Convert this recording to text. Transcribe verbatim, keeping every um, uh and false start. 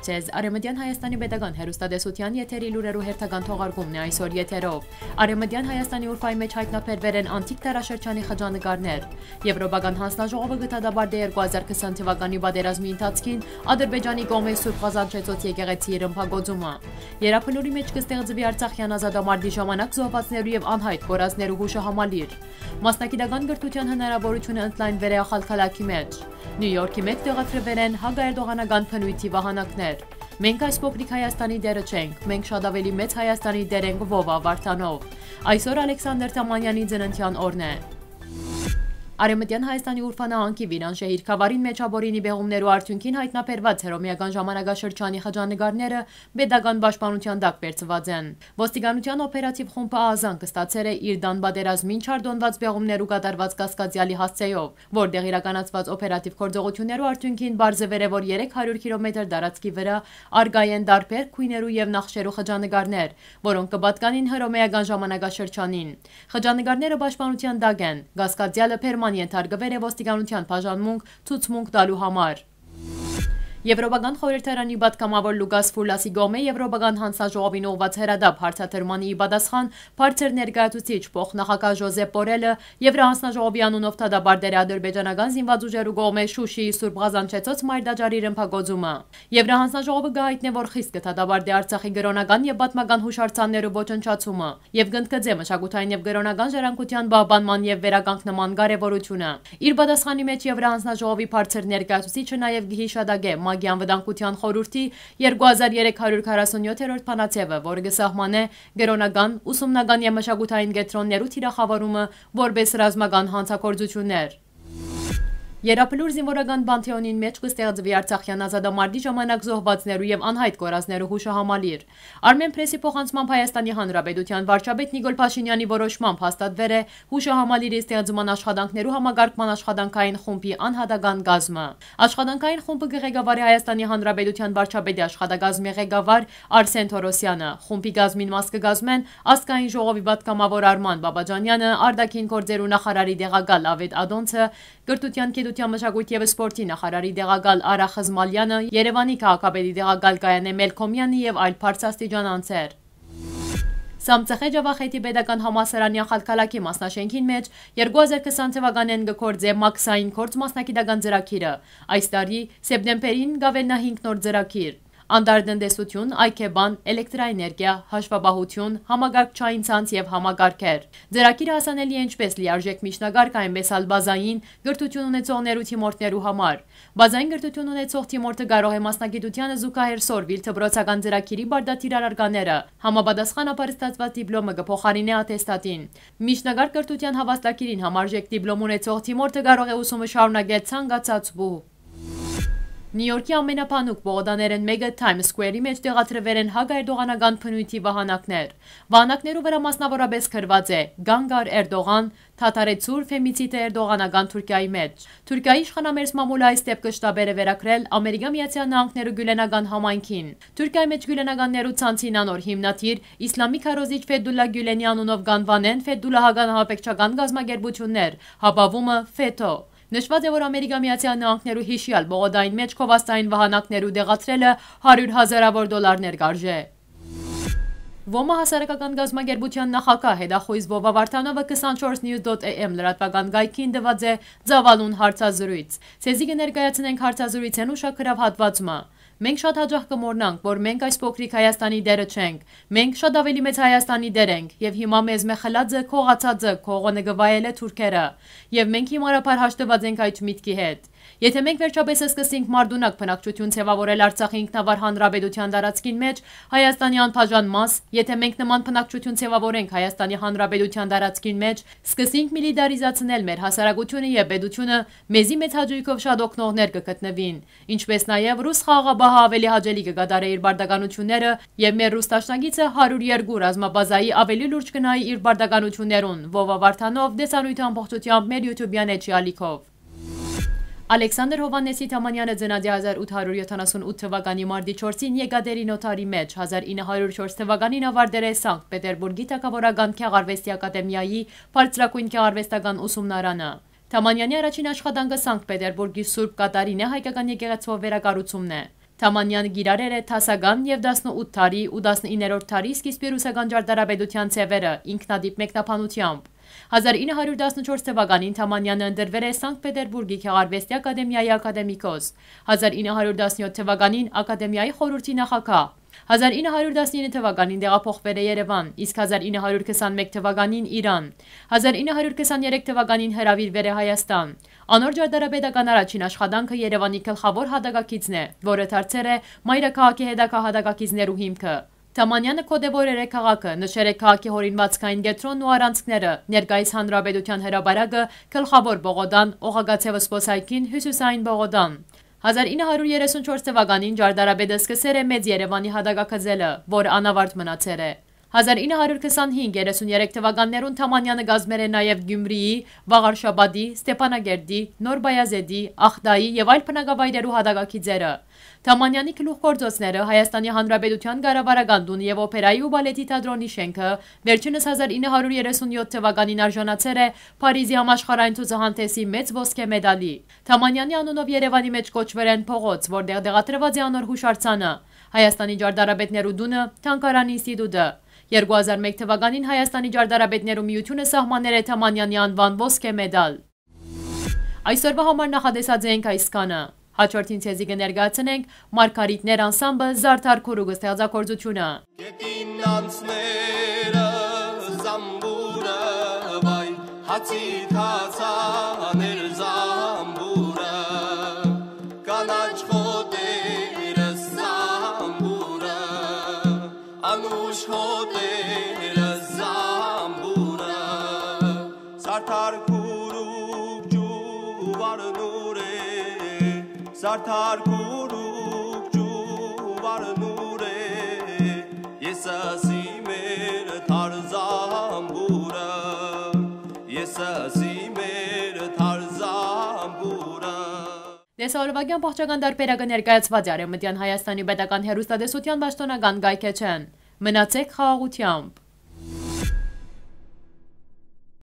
Ձեզ Արեւմտեան Հայաստանի Պետական Հեռուստատեսութեան եթերի լուրերու հերթական թողարկումն է այսօր եթերով։ Արեւմտեան Հայաստանի Ուրֆայի մէջ յայտնաբերուեր են անտիկ դարաշրջանի խճանկարներ։ Եվրոպական հանձնաժողովը կը դատապարտէ երկու հազար քսան թուականի պատերազմի ընթացքին Ադրբեջանի կողմէ Սուրբ Ղազանչեցոց եկեղեցիի ռմբակոծումը։ Երաբլուրի մէջ կը ստեղծուի Արցախեան ազատամարտի ժամանակ զոհուածներու եւ անյայտ կորածներու յուշահամալիր։ Մասնագիտական կրթութեան հնարաւորութիւնը ընդլայնուեր է Ախալքալաքի մէջ։ Նիու Յորքի մէջ տեղադրուեր են հակաերդողանական բնոյթի վահանակներ։ «Մենք այս փոքրիկ Հայաստանի դերը չենք, մենք շատ ավելի մեծ Հայաստանի դեր ենք» Վովա Վարդանով։ Այսօր Ալեքսանդր Թամանյանի ծննդեան օրն է։ Արեւմտեան Հայաստանի Ուրֆա նահանգի Վիրանշեհիր գաւառին մէջ ապօրինի պեղումներու արդիւնքին յայտնաբերուած հռոմէական ժամանակաշրջանի խճանկարները պետական պաշտպանութեան տակ վերցուած են։ Ոստիկանութեան օպերատիվ խումբը ահազանգ ստացեր է իր տան պատերազմին չարդոնուած պեղումներու կատարուած կասկածեալի հասցէով, որտեղ իրականացուած օպերատիվ գործողութիւններու արդիւնքին պարզուեր է, որ երեք հարիւր քիլոմետր տարածքի վրայ առկայ են տարբեր գոյներու եւ նախշերու խճանկարներ, որոնք կը պատկանին հռոմէական ժամանակաշրջանին։ Խճանկարները պաշտպանութեան տակ են։ Կասկածեալը բերման ենթարկուեր է ոստիկանութեան բաժանմունք ցուցմունք տալու համար։ Եվրոպական խորհրդարանի պատգամաւոր Լուկաս Ֆուլասի կողմէ Եվրոպական հանձնաժողովին ուղղուած հրատապ հարցադրմանը ի պատասխան բարձր ներկայացուցիչ փոխնախագահ Ժոզեփ Պորելը Եվրահանձնաժողովի անունով դատապարտեր է ադրբեջանական զինված ուժերու կողմէ Շուշիի Սուրբ Ղազանչեցոց մայրտաճարի ռմբակոծումը։ Եվրահանձնաժողովը կը յայտնէ, որ խիստ կը դատապարտէ Արցախի կրօնական եւ պատմական յուշարձաններու ոչնչացումը եւ կընդգծէ մշակութային եւ կրօնական ժառանգութեան պահպանման եւ վերականգնման կարեւորութիւնը։ Իր պատասխանի մէջ Եվրահանձնաժողովի բարձր ներկայացուցիչը նաեւ կը յիշատակէ ՄԱԿ-ի Անվտանգության խորհուրդի երկու հազար երեք հարիւր քառասունյոթերորդ բանաձեւը, որը կը սահմանէ կրօնական, ուսումնական եւ մշակութային կեդրոններու թիրախաւորումը որպէս ռազմական հանցագործութիւններ։ Երաբլուր զինուորական պանթէոնին մէջ կը ստեղծուի Արցախեան ազատամարտի ժամանակ զոհուածներու եւ անյայտ կորածներու յուշահամալիր։ Արմեն Պրեսի փոխանցմամբ Հայաստանի Հանրապետութեան վարչապետ Նիկոլ Փաշինեանի որոշմամբ հաստատուեր է յուշահամալիրի ստեղծման աշխատանքներու համակարգման աշխատանքային խումբի անհատական կազմը։ Աշխատանքային խումբը կը ղեկավարի Հայաստանի Հանրապետութեան վարչապետի աշխատակազմի ղեկավար Արսեն Թորոսյանը։ Խումբի կազմին մաս կը կազմեն ազգային ժողովի պատգամաւոր Արման Բաբաջանյանը, արտաքին գործերու նախարարի տեղակալ Ավետ Ադոնցը, կրթութեան, գիտութեան, մշակոյթի եւ սպորտի նախարարի տեղակալ Արա Խզմալյանը, Երեւանի քաղաքապետի տեղակալ Կայանե Մելքոմյանը եւ այլ բարձրաստիճան անձեր։ Սամցխե Ջավախեթի պետական համալսարանի Ախալքալաքի մասնաշենքին մէջ երկու հազար քսան թվականէն կը գործէ մաքսային գործ մասնագիտական ծրագիրը։ Այս տարի սեպտեմբերին կ'աւելնայ հինգ նոր ծրագիր։ Անդարտնտեսություն, այգեբան, էլեկտրաէներգիա, հաշուապահություն, համակարգչային ցանց եւ համակարգեր։ Ծրագիրը հասանելի է ինչպէս լիարժեք միջնակարգ, այնպէս ալ բազային կրթութիւն ունեցողներու թիմորդներու համար։ Բազային կրթութիւն ունեցող թիմորդը կարող է մասնագիտութեանը զուգահեռ սորվիլ դպրոցական ծրագիրի պարտադիր առարկաները։ Համապատասխանաբար ստացուած դիպլոմը կը փոխարինէ ատեստատին։ Միջնակարգ կրթութեան հաւաստագիրին համարժեք դիպլոմ ունեցող թիմորդը կարող է ուսումը շարունակել ցանկացած պահ։ Նիու Յորքի ամենաբանուկ պողոտաներէն մէկը Թայմս Սքուերի մէջ տեղադրուեր են հակաերդողանական բնոյթի վահանակներ։ Վահանակներու վրայ մասնաւորապէս գրուած է «Կանգ առ, Էրդողան, դադարեցուր ֆեմիցիդը Էրդողանական Թուրքիայի մէջ»։ Թուրքիայի իշխանամերձ մամուլը այս դէպքը շտապեր է վերագրել Ամերիկա Միացյալ Նահանգներու Գիւլենական համայնքին։ Թուրքիայի մէջ Գիւլենականներու ցանցին անոր հիմնադիր, իսլամի քարոզիչ Ֆեդուլլա Գիւլենի անունով կ'անուանեն ֆեդուլլահական ահաբեկչական կազմակերպութիւններ, յապաւումը՝ Ֆեթօ։ Նշուած է, որ Ամերիկա Միացյալ Նահանգներու յիշեալ պողոտային մէջ գովազդային վահանակներու տեղադրելը հարիւր հազարաւոր դոլարներ կ'արժէ։ Ոմա հասարակական կազմակերպութեան նախագահ հետախոյզ Վովա Վարդանովը քսանչորս news dot am լրատուական կայքին տուած է ծավալուն հարցազրոյց։ Ձեզի կը ներկայացնենք հարցազրոյցէն ուշագրաւ հատուած մը։ Մենք շատ յաճախ կը մոռնանք, որ մենք այս փոքրիկ Հայաստանի դերը չենք։ Մենք շատ ավելի մեծ Հայաստանի դեր ենք, եւ հիմա մեզ մեղելածը, քողացածը, քողոնը կը վայելէ թուրքերը, եւ մենք հիմարաբար հաշտուած ենք այդ միտքի հետ։ Եթե մենք վերջապէս սկսենք մարդունակ բնակչություն ձեւաւորել Արցախի ինքնավար հանրապետության տարածքին մէջ, Հայաստանի անբաժան մաս, եթե մենք նման բնակչություն ձեւաւորենք Հայաստանի հանրապետության տարածքին մէջ, սկսենք միլիտարիզացնել մեր հասարակությունը եւ պետությունը, մեզի մեծ հաճոյքով շատ օգնողներ կը գտնուին, ինչպէս նաեւ ռուս խաղաղապահը ավելի հաճելի կը կատարէ իր պարտականութիւնները, եւ մեր ռուս դաշնակիցը հարիւր երկու ռազմաբազայի ավելի լուրջ կը նայի իր պարտականութիւններուն, Վովա Վարդանով, տեսանոյթը ամբողջութեամբ մեր YouTube-յան էջի ալիքով։ Ալեքսանդր Հովհաննեսի Թամանյանը ծնած է հազար ութ հարիւր յոթանասուն ութ թվականի մարտի չորսին Եկատերինոդարի մէջ, հազար ինը հարիւր չորս թվականին աւարտեր է Սանկտ Պետերբուրգի թագաւորական գեղարուեստի ակադեմիայի բարձրագոյն գեղարուեստական ուսումնարանը։ Թամանյանի առաջին աշխատանքը Սանկտ Պետերբուրգի Սուրբ Կատարինե հայկական եկեղեցւոյ վերակառուցումն է։ Թամանյանը կիրառեր է դասական եւ տասնութ դարի ու տասնիններորդ դարի սկիզբի ռուսական ճարտարապետութեան ձեւերը ինքնատիպ մեկնաբանությամբ։ Հազար ինը հարիւր տասնչորս թվականին Թամանյանը ընտրուեր է Սանկտ Պետերբուրգի Գեղարուեստի ակադեմիայի ակադեմիկոս, հազար ինը հարիւր տասնեթ թվականին ակադեմիայի խորհուրդի նախագահ, հազար ինը հարիւր տասնինը թվականին տեղափոխուեր է Երեւան, իսկ հազար ինը հարիւր քսանմեկ թվականին՝ Իրան, հազար ինը հարիւր քսաներեք թվականին հրաւիրուեր է Հայաստան։ Անոր ճարտարապետական առաջին աշխատանքը Երեւանի գլխաւոր յատակագիծն է, որը դարձեր է մայրաքաղաքի հետագայ յատակագիծներու հիմքը։ Թամանյանը գօտեւորեր է քաղաքը, նշեր է քաղաքի հորինուածքային կեդրոնն ու առանցքները, ներկայիս հանրապետութեան հրապարակը, գլխաւոր պողոտան, օղակաձեւ զբօսայգին, հիւսիսային պողոտան։ Հազար ինը հարիւր երեսունչորս թվականին ճարտարապետը սկսեր է Մեծ Երեւանի յատակագծելը, որ անաւարտ մնացեր է։ Հազար ինը հարիւր քսանհինգ երեսուներեք թվականներուն Թամանյանը կազմեր է նաեւ Գիւմրիի, Վաղարշապատի, Ստեփանակերտի, Նոր Բայազետի, Ախտայի եւ այլ բնակավայրերու յատակագիծերը։ Թամանյանի գլուխգործոցները, Հայաստանի Հանրապետութեան կառավարական տունը եւ օփերայի ու բալետի թատրոնի շենքը, վերջինս հազար ինը հարիւր երեսունեթ թվականին արժանացեր է Փարիզի համաշխարհային ցուցահանդէսի մեծ ոսկէ մեդալի։ Թամանյանի անունով Երեւանի մէջ կոչուեր են փողոց, որտեղ տեղադրուած է անոր յուշարձանը, Հայաստանի ճարտարապետներու տունը, Թանգարան ինստիտուտը։ Երկու հազար մէկ թվականին Հայաստանի ճարտարապետներու միութիւնը սահմաներ է Թամանյանի անուան ոսկէ մեդալ։ Այսօրվա համար նախատեսած ենք այսքանը։ Հաջորդին ձեզի կը ներկայացնենք Մարգարիտներ անսամբլ Զարդար Քուրուկ ստեղծագործութիւնը։ Գետին անցները զամբուրը վայ, հացի թացաներ զամբուրը, կանաչ խոտերը զամբուրը, անուշ հոտերը զամբուրը, Զարդար Քուրուկ ջուվար նուրե, Զարդար Քուրուկ ջուվար նուրե, ես ասի մեր թարզամբուրը, ես ասի մեր թարզամբուրը։ Տեսահոլովակեան բաղջական տարբերակը ներկայացուած է Արեւմտեան Հայաստանի պետական հեռուստատեսութեան պաշտօնական կայքէջէն։ Մնացեք խաղաղութեամբ։